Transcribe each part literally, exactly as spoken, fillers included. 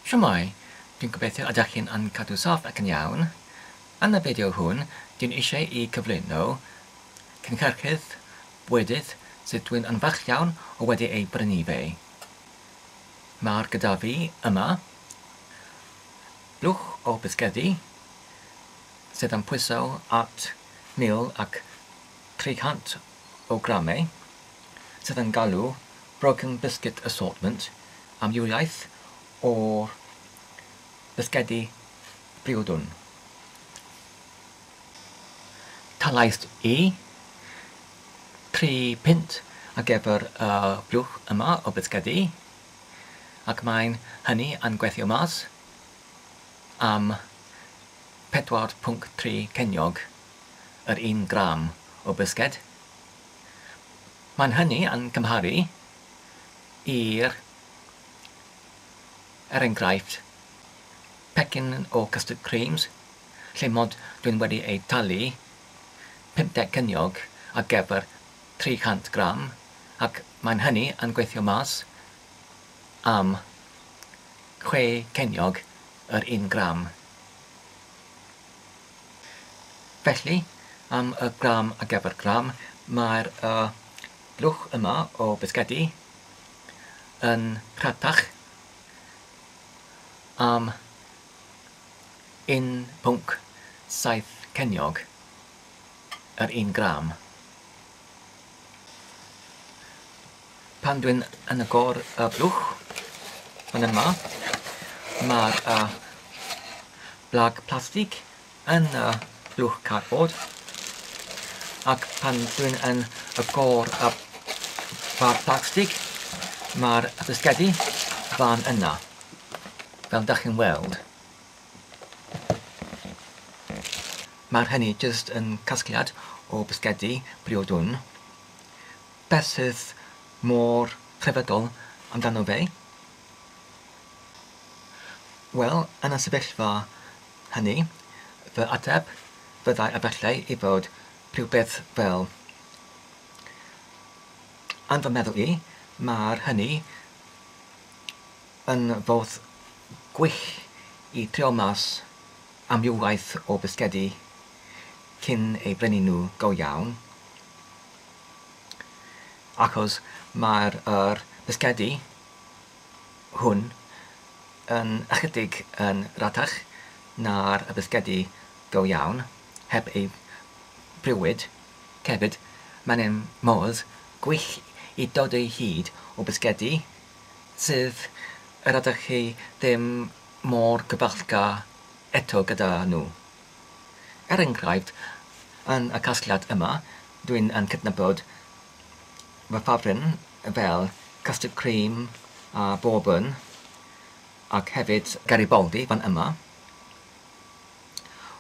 Shwmae, dwi'n gobeithio ydych chi'n yn cadw saff ac yn iawn. Yn y fideo hwn, dwi'n eisiau i cyflwyno cynhyrchydd bwydydd sydd dwi'n yn falch iawn o wedi ei brynu fe. Mae'r gyda fi yma blwch o bisgedi sydd yn pwyso at mil ac tri cant o gramau sydd yn galw Broken Biscuit Assortment amrywiaeth o'r bisgedi briodwn. Talais i tri punt ar gyfer y blwch yma o bisgedi, ac mae'n hynny yn gweithio mas am pedwar pwynt tri ceiniog yr un gram o bisged. Mae'n hynny yn cymharu i'r, er enghraifft, pecyn o custard creams, lle mod dwi'n wedi ei talu pumdeg ceiniog ar gyfer tri chant gram, ac mae'n hynny yn gweithio mas am chwe ceiniog yr un gram. Felly, am y gram ar gyfer gram, mae'r uh, blwch yma o bisgedi yn rhatach am un pwynt saith ceiniog yr un gram. Pan dwi'n yn agor y blwch fan yma, mae'r uh, blag plastig yn y blwch cardboard, ac pan dwi'n yn agor y bag plastig, mae'r bisgedi fan yna, fel dach chi'n weld. Mae'r hynny jyst yn casgliad o bisgedi briodwn. Beth sydd mor rhyfeddol amdano fe? Wel, yn y sefyllfa hynny, fy ateb fyddai efallai i fod rhywbeth fel, yn fy meddwl i, mae'r hynny yn fodd gwych i trio mas amrywiaeth o bisgedi cyn ei brynu nhw go iawn, achos mae'r er bisgedi hwn yn ychydig yn ratach na'r bisgedi go iawn, heb ei briwyd. Hefyd, mae'n un modd gwych i dod o hyd o bisgedi sydd yr ydych chi ddim mor gyfeillgar eto gyda nhw. Er enghraifft, yn y casgliad yma, dwi'n yn cydnabod fy ffafryn fel custard cream a bourbon, ac hefyd Garibaldi fan yma.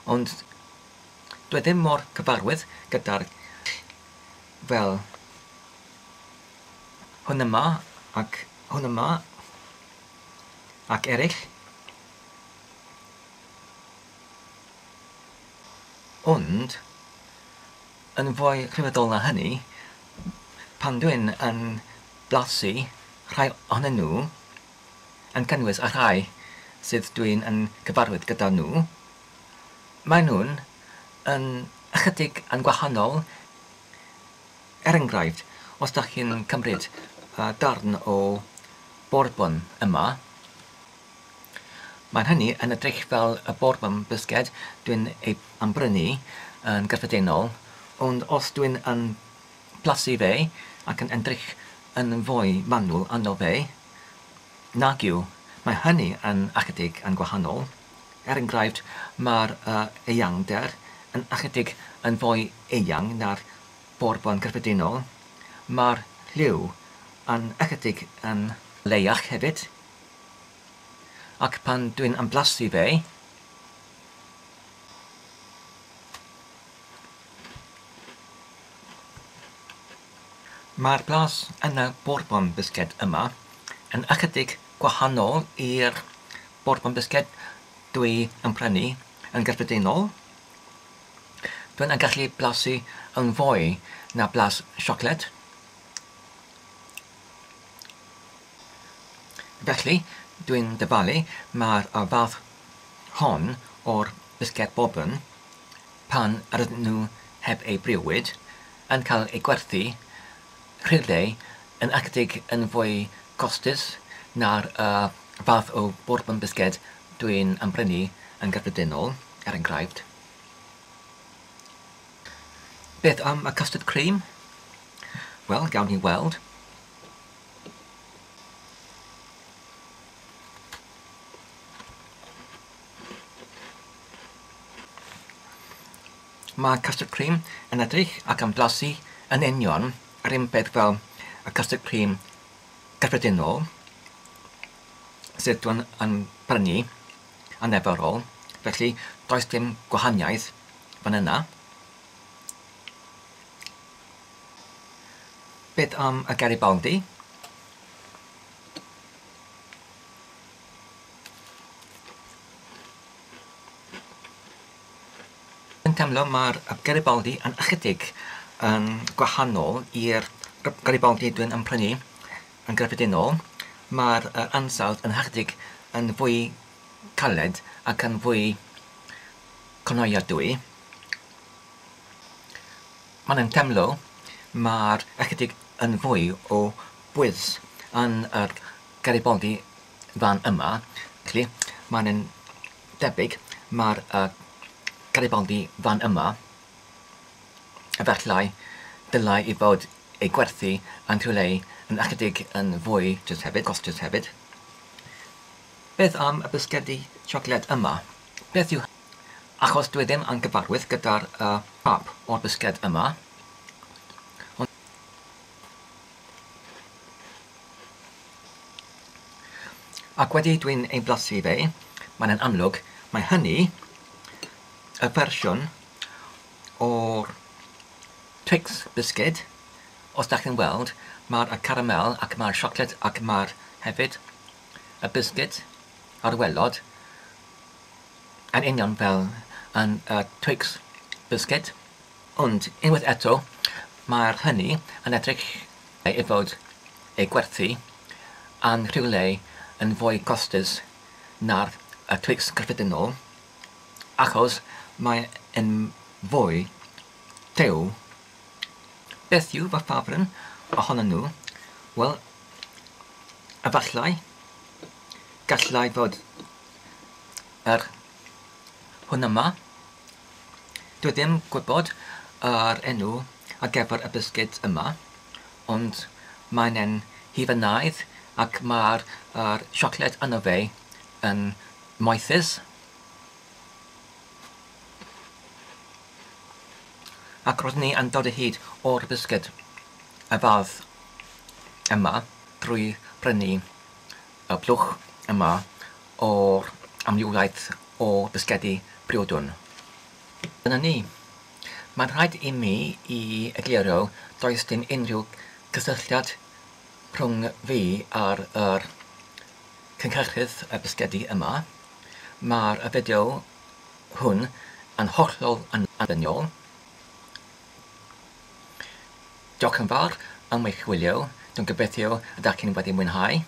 Ond dwi ddim mor cyfarwydd gyda'r fel hwn yma ac hwn yma ac eraill. Ond, yn fwy rhyfeddol na hynny, pan dwi'n yn blasu rhai ohonyn nhw, yn cynnwys y rhai sydd dwi'n yn cyfarwydd gyda nhw, maen nhw'n yn ychydig yn gwahanol. Er enghraifft, os dach chi'n cymryd uh, darn o bourbon yma, mae'n hynny yn edrych fel y bourbon bisged dwi'n ei brynu yn gyffredinol, ond os dwi'n yn blasu fe ac yn edrych yn fwy manwl arno fe, nag yw, mae hynny yn ychydig yn gwahanol. Er enghraifft, mae'r uh, eangder yn ychydig yn fwy eang na'r bourbon gyffredinol. Mae'r lliw yn ychydig yn leiach hefyd. Ac pan dwi'n emblasu fe, mae'r blas yn y bourbon bisged yma yn ychydig gwahanol i'r bourbon bisged dwi yn prynu yn gyffredinol. Dwi'n yn gallu blasu yn fwy na blas siocled. Felly, Dwi'n dyfalu mae'r fath hon o'r bisged bourbon, pan ydyn nhw heb eu briwyd, yn cael eu gwerthu rhywle yn ychydig yn fwy costus na'r uh, fath o bourbon bisged dwi'n brynu yn gyffredinol, er enghraifft. Beth am y custard cream? Wel, gawn ni weld. Mae custard cream yn edrych ac yn blasu yn union yr un peth fel y custard cream gyffredinol sydd dwi'n yn prynu yn arferol, felly does dim gwahaniaeth fan yna. Beth am y Garibaldi? Yn teimlo mae'r Garibaldi yn ychydig yn gwahanol i'r Garibaldi dwi'n yn prynu yn gyffredinol. Mae'r ansawdd yn ychydig yn fwy caled ac yn fwy cynaliadwy. Mae'n teimlo mae'r ychydig yn fwy o bwys yn yr Garibaldi fan yma. Felly mae'n debyg mae'r uh, Garibaldi fan yma efallai dylai i fod ei gwerthu yn rhywle yn ychydig yn fwy jyst hefyd, costus hefyd. Beth am y bisgedi siocled yma? Beth yw... Achos dwi ddim yn gyfarwydd gyda'r uh, siâp o'r bisged yma. Ond... Ac wedi dwi'n ei blasu fe, mae'n yn amlwg, mae hynny y fersiwn o'r Twix bisged. Os da chi'n weld, mae'r caramel ac mae'r siocled ac mae'r hefyd y bisged ar waelod yn union fel yn y Twix bisged. Ond unwaith eto, mae'r hynny yn edrych ei fod ei gwerthu yn rhywle yn fwy costus na'r y Twix cyffredinol, achos mae yn fwy tew. Beth yw fy ffafryn ohonyn nhw? Wel, efallai gallai fod yr hwn yma. Dwi ddim gwybod yr enw ar gyfer y bisged yma, ond mae'n en hufanaidd ac mae'r siocled yno fe yn moethus. Ac roeddwn ni yn dod o hyd o'r bisged y fath yma drwy brynu y blwch yma o'r amrywiaeth o bisgedi briodwn. Dyna ni. Mae'n rhaid i mi i egluro does dim unrhyw cysylltiad rhwng fi a'r yr cynhyrchydd y bisgedi yma. Mae'r fideo hwn yn hollol annibynnol. Diolch yn fawr am eich wylio. Dwi'n gobeithio ydych chi'n wedi mwynhau.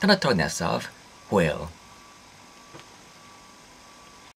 Tan y tro nesaf, hwyl.